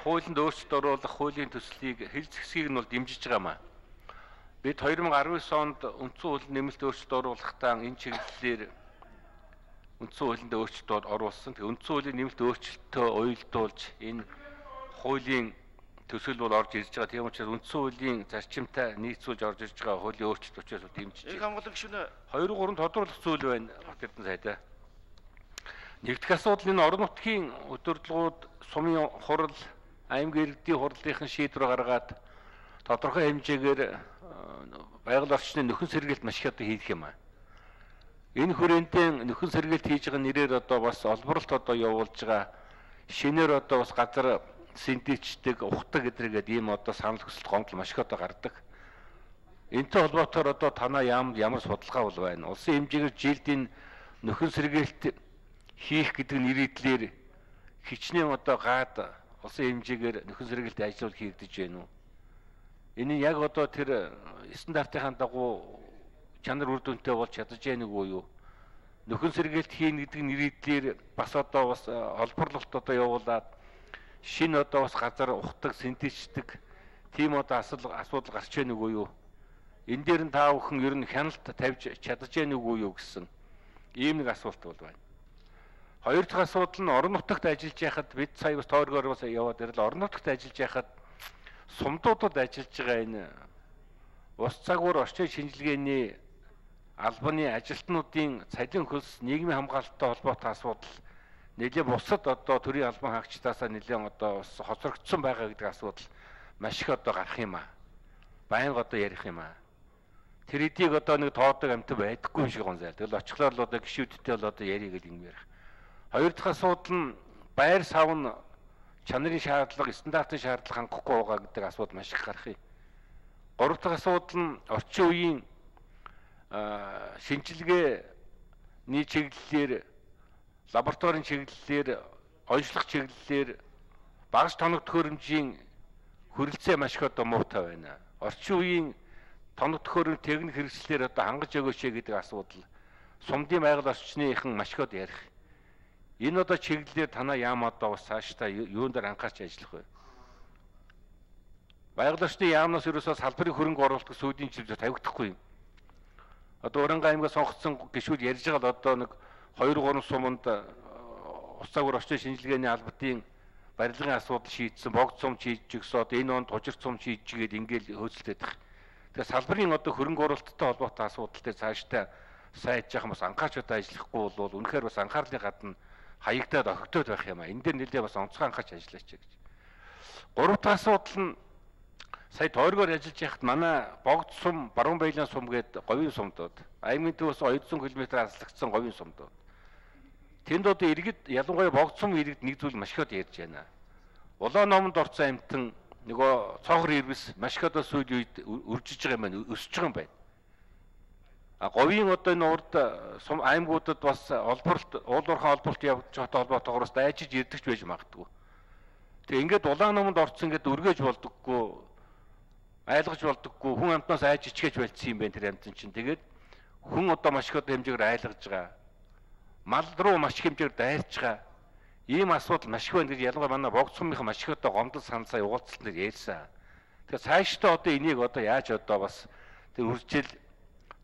Хуулинд өөрчлөлт оруулах хуулийн төслийг хил зэхсгийг нь бол дэмжиж байгаа маа. Бид 2019 онд үндсэн хуулинд нэмэлт өөрчлөлт оруулахдаа энэ чиглэлээр үндсэн хуулинд өөрчлөлт оруулсан. Тэгээ үндсэн хуулийн нэмэлт өөрчлөлтөө уялдуулж энэ хуулийн төсөл бол орж ирж байгаа. Тийм учраас үндсэн хуулийн зарчимтай нийцүүлж орж ирж байгаа хуулийн өөрчлөлт учраас дэмжиж. Их хамгаалан гишүүнээ 2-3 тодруулах зүйл байна. Бат Эрдэнэ сайдаа. Нэгдүгээр асуудал энэ орон нутгийн удирдлагууд сумын хурал, аймгийн иргэдийн хурлынхын шийдвэр гаргаад тодорхой хэмжээгээр байгаль орчны нөхөн сэргээлт маш их хийх юм аа. Энэ хүрээндээ нөхөн сэргээлт хийж байгаа нэрээр одоо бас олборлолт одоо явуулж байгаа. Шинээр одоо бас газар синтетичдэг, ухдаг гэдрэгээд ийм одоо санал хүсэлт гомдол маш их одоо гардаг. Энэтэй холбоотойгоор одоо танаа ямар судалгаа бол байна? Улсын хэмжээгээр жилд энэ нөхөн сэргээлт хийх гэдэг нэрийдлэр хичнээн одоо гад улсын хэмжээгээр нөхөн сэргээлт ажил хийгдэж байна уу? Энэ яг одоо тэр стандартын дагуу чанар үр дүнтэй болж чадаж байна уу юу? Нөхөн сэргээлт хийн гэдэг нэрийдлэр бас одоо бас олборлолт одоо явуулаад шинэ одоо бас газар ухдаг, синтетичдэг тийм одоо асуудал гарч байна уу юу? Энэ дээр нь та бүхэн ер нь хяналт тавьж чадаж байна уу юу гэсэн ийм нэг асуулт бол байна. Хоёр дахь асуудал нь орон нутагт ажиллаж байхад бид сая бас тойргоор бас яваад ирэл орон нутагт ажиллаж байхад сумдуудад ажиллаж байгаа энэ ус цагуур орчин шинжилгээний албаны ажилтнуудын цалин хөлс нийгмийн хамгаалалттай холбоотой асуудал нэлээд бусад одоо төрийн албан хаагчдаасаа нэлээд одоо хоцрогдсон байгаа гэдэг асуудал маш их одоо гарах юм аа. Байнга одоо ярих юм аа. Тэр эдийг одоо нэг тоодог амт байдаггүй юм шиг гонзайл. Тэгэл очихлоор л одоо гişүүдтэй бол одоо ярих гэдэг юм ярих. Хоёр дахь асуудал нь байр савн чанарын шаардлага, стандартын шаардлага хангахгүй байгаа гэдэг асуудал маш их гарах юм. Гурав дахь асуудал нь орчин үеийн шинжилгээний чиглэлээр, лабораторийн чиглэлээр, онцлог чиглэлээр багаж тоног төхөөрөмжийн хүрэлцээ маш их одоо муутай байна. Орчин үеийн тоног төхөөрөмж техник хэрэгслээр одоо хангаж өгөөч гэдэг асуудал сумдын байгаль орчныхан маш их одоо ярих. Энэ одоо чиглэлээр танаа яам одоо бас цаашдаа юун дээр анхаарч ажиллах вэ? Байгаль орчны яамнаас ерөөсөө салбарын хөрөнгө оруулалт сүүдийн чиглэл тавигдахгүй юм. Одоо Уранга аймгаас сонгогдсон гишүүд ярьж байгаа л одоо нэг 2-3 суманд ус цагуур орчин шинжилгээний албатын барилгын асуудал шийдсэн, богд сум шийдэж өгсөн, одоо энэ онд тужирт сум шийдэж гээд ингээл хөөцөлдөд байгаа. Тэгэхээр салбарын одоо хөрөнгө оруулалттай холбоотой асуудал дээр цаашдаа сайж яхан бас анхаарч одоо ажиллахгүй бол үнэхээр бас анхаарлын гадна хаягдаад огтод байх юм аа. Энэ дээр нэлээд бас онцгой анхаарч ажиллаач гэж. Гурав дахь асуудал нь сая тойргоор ажиллаж байхад манай богд сум, баруун баялын сум гээд говийн сумдууд, аймгийн төвөөс 200 км аслагдсан говийн сумдууд. Тэнд одоо иргэд ялангуяа богд сум иргэд нэг зүйл маш их ярьж байна. Улаан номонд орсон амтан нөгөө цоохор ирвэс маш их одоо сүүлийн үед өржиж байгаа юм байна, өсөж байгаа юм байна. Говийн одоо энэ урд сум аймагуудад бас олборлолт, уулуурхан олборлолт явж байгаатай холбоотойгоор дайжиж ирдэгч байж магадгүй. Тэгээ ингээд улаан номонд орсон ингээд өргөж болдоггүй, айлгаж болдоггүй, хүн амтнаас айж ичгэж болцсон юм байна тэр амтан чинь. Тэгээд хүн одоо маш их одоо хэмжээгээр айлгаж байгаа. Мал руу маш их хэмжээгээр дайрч байгаа. Ийм асуудал маш их байна гэж ялангуяа манай богд сумынхан маш их одоо гомдол саналсаа угаалцсан дээр ярьсан. Тэгэхээр цаашдаа одоо энийг одоо яаж одоо бас тэр үржил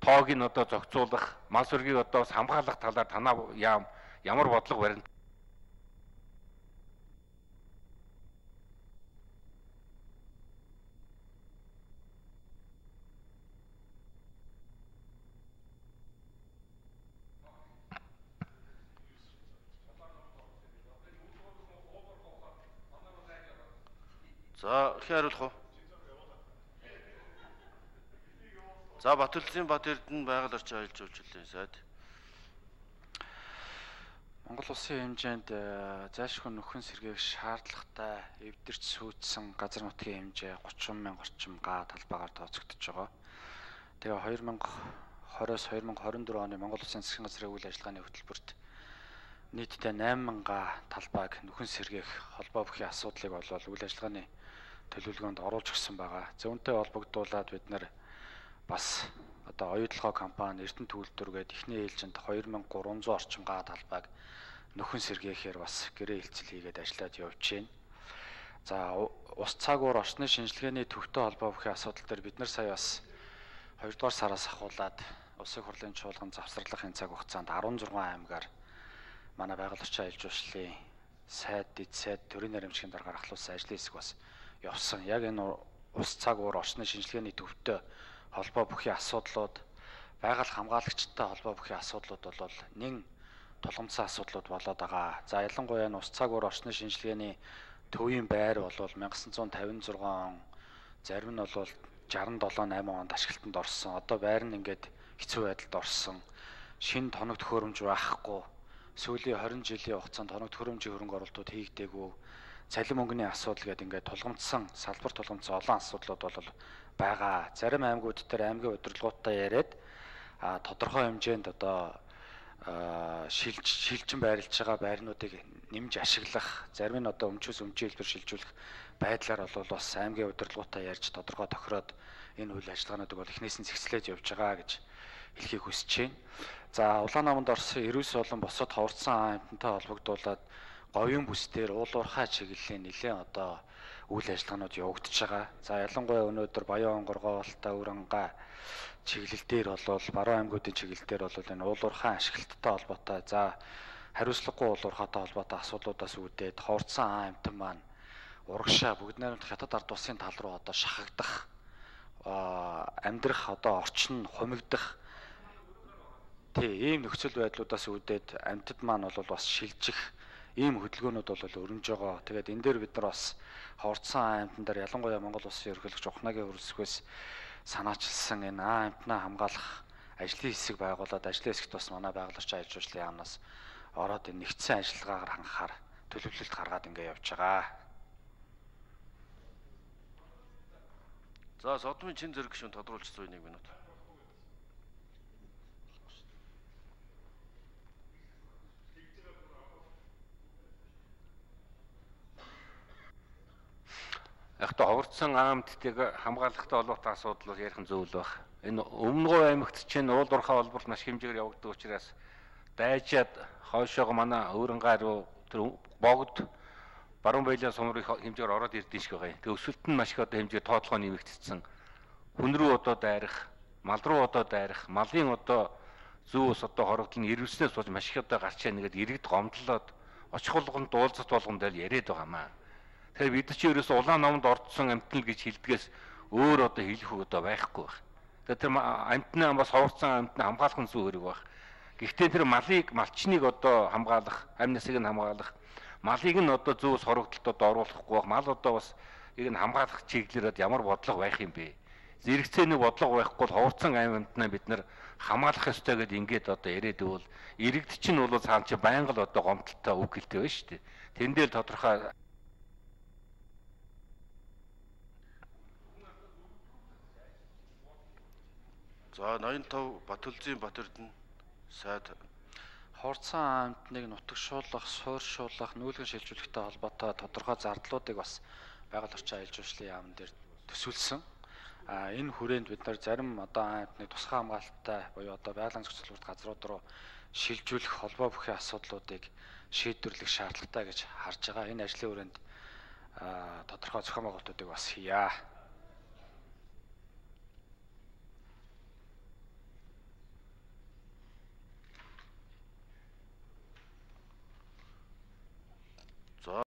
тоог нь одоо зохицуулах, мал сүргийг одоо бас хамгаалах талаар танаа ямар бодлого барина? За, хариулах уу? За, Батүрлын Бат Эрдэнэ байгаль орчин аялал жуулчлалын сайд. Монгол улсын хэмжээнд зайлшгүй нөхөн сэргээх шаардлагатай эвдэрч сүйдсэн газар нутгийн хэмжээ 30,000 орчим га талбайгаар тооцогдож байгаа. Тэгээ 2020-с 2024 оны Монгол улсын засгийн газрын үйл ажиллагааны хөтөлбөрт нийтдээ 8,000 га талбайг нөхөн сэргээх холбоо бүхий асуудлыг болвол үйл ажиллагааны төлөвлөгөөнд оруулж өгсөн байгаа. Зөвөнтэй холбогдуулаад бид нар бас одоо оюутлогоо компани Эрдэнэ Түүлдвэр гээд эхний ээлжинд 2300 орчим га талбайг нөхөн сэргээхээр бас гэрээ хилцэл хийгээд ажиллаад явж байна. За ус цаагуур орчны шинжилгээний төвтэй холбоо бүхий асуудал дээр бид нар сая бас 2 дугаар сараас ахуулаад Улсын хурлын чуулган завсарлахын цаг хугацаанд 16 аймгаар манай байгаль орчин аялал жуулчлалын сайд, дэд сайд, төрийн наримчгийн даргаар ахлуулсан ажлын хэсэг бас явсан. Яг энэ ус цаагуур орчны шинжилгээний төвтэй холбоо бүхий асуудлууд, байгаль хамгаалагчтай холбоо бүхий асуудлууд бол нэн тулгамдсан асуудлууд болоод байгаа. За ялангуяа энэ ус цаагуур орчны шинжилгээний төвийн байр бол 1956 он, зарим нь бол 67-8 онд ашиглалтанд орсон. Одоо байр нь ингээд хэцүү байдалд орсон. Шинэ тоног төхөөрөмж байхгүй. Сүүлийн 20 жилийн хугацаанд тоног төхөөрөмжийн хөрөнгө оруулалтууд хийгдээгүй. Цалин мөнгөний асуудал гэдэг ингээд тулгамдсан, салбар тулгамдсан олон асуудлууд бол байгаа. Зарим аймагуд дээр аймгийн удирдлагуудтай яриад тодорхой хэмжээнд одоо шилжин байрлаж байгаа байрнуудыг нэмж ашиглах, зарим нь одоо өмчөөс өмчийн хэлбэр шилжүүлэх байдлаар бол бас аймгийн удирдлагуудтай ярьж тодорхой тохироод энэ үйл ажиллагаануудыг бол эхнээс нь зэгслэж явж байгаа гэж хэлхийг хүсэж байна. За Улаанаманд орсон 90 болон босод ховорцсон аймтантай холбогдуулаад говийн бүс дээр уулуурхай чиглэлийн нэлээд одоо үйл ажиллагаанууд явагдаж байгаа. За ялангуяа өнөөдөр Баян Онгоргоолтай Өрөнгай чиглэл дээр бол баруун аймагуудын чиглэл дээр бол энэ уулуурхай ашиглалттай холбоотой, за хариуцлагагүй уулуурхайтай холбоотой асуудлуудаас үүдээд ховорцсон аймтан маань урагшаа бүгд найрамдах хятад ард улсын тал руу одоо шахагдах, амьдрах одоо орчин хумигдах ийм нөхцөл байдлуудаас үүдээд амьтад маань бол бас шилжих ийм хөдөлгөөнүүд бол өрнөж байгаа. Тэгээд энэ дээр бид нар бас ховорцсон аймтан дээр ялангуяа Монгол Улсын ерөнхийлөгч Ухнагийн хөрсгөөс санаачилсан энэ аймтнаа хамгаалах ажлын хэсэг байгуулад ажлын хэсэгт бас манай байгаль орчин аялал жуулчлалын яамнаас ороод энэ нэгдсэн ажиллагаагаар хангахаар төлөвлөлт гаргаад ингэ явж байгаа. За Содмын чин зэрэг гишүүн тодруулж 101 минут. Ягта ховорцсон аймтдыг хамгаалахтай холбоотой асуудал бол ярих зөв л баг. Энэ Өмнөгов аймагт чинь уулуурхай холбоот маш хэмжээгээр явагддаг учраас дайжаад хойшоогоо манай Өрөнгай руу тэр богд баруун баялаа сумрын хэмжээгээр ороод ирдэ шиг байгаа юм. Тэгээ өсөлт нь маш их одоо хэмжээ тоотлогоо нэмэгдсэн. Хүн рүү одоо дайрах, мал руу одоо дайрах, малын одоо зүүс одоо хорогдол нь ирвэснээс болж маш их одоо гарч яа нэгэд иргэд гомдлоод очих болгонд дуулцат болгонд л яриад байгаамаа. Тэгэхээр бид чи ерөөсөө Улаанаманд ордсон амтнал гэж хэлдгээс өөр одоо хэлэх үг одоо байхгүй байх. Тэгэхээр тэр амтнаа бас ховорцсон амтнаа хамгаалах нь зөв хэрэг байх. Гэхдээ тэр малчныг одоо хамгаалах, амь насыг нь хамгаалах, малыг нь одоо зүүс хорогдолд одоо оруулахгүй байх. Мал одоо бас ийг нь хамгаалах чиглэлээр ямар бодлого байх юм бэ? Зэрэгцээний бодлого байхгүй бол ховорцсон амтнаа бид нар хамгаалах ёстой гэдээ ингээд одоо яриад ивэл иргэд чинь бол цаана чи байнга л одоо гомдолтой үг хэлтэй байна шүү дээ. Тэндээ л тодорхой За 85 Батүлзийн Батэрдэн сайд Ховорцсон аймтныг нутагшуулах, суурьшуулах, нүүлгэн шилжүүлэхтэй холбоотой тодорхой зардлуудыг бас байгаль орчин аялал жуулчлалын яамн дээр төсөөлсөн. Энэ хүрээнд бид нар зарим одоо аймтныг тусгай хамгаалалттай буюу одоо байгалийн зохицуулалт газрууд руу шилжүүлэх холбоо бүхий асуудлуудыг шийдвэрлэх шаардлагатай гэж харж байгаа. Энэ ажлын хүрээнд тодорхой зохион байгуулалтуудыг бас хийя.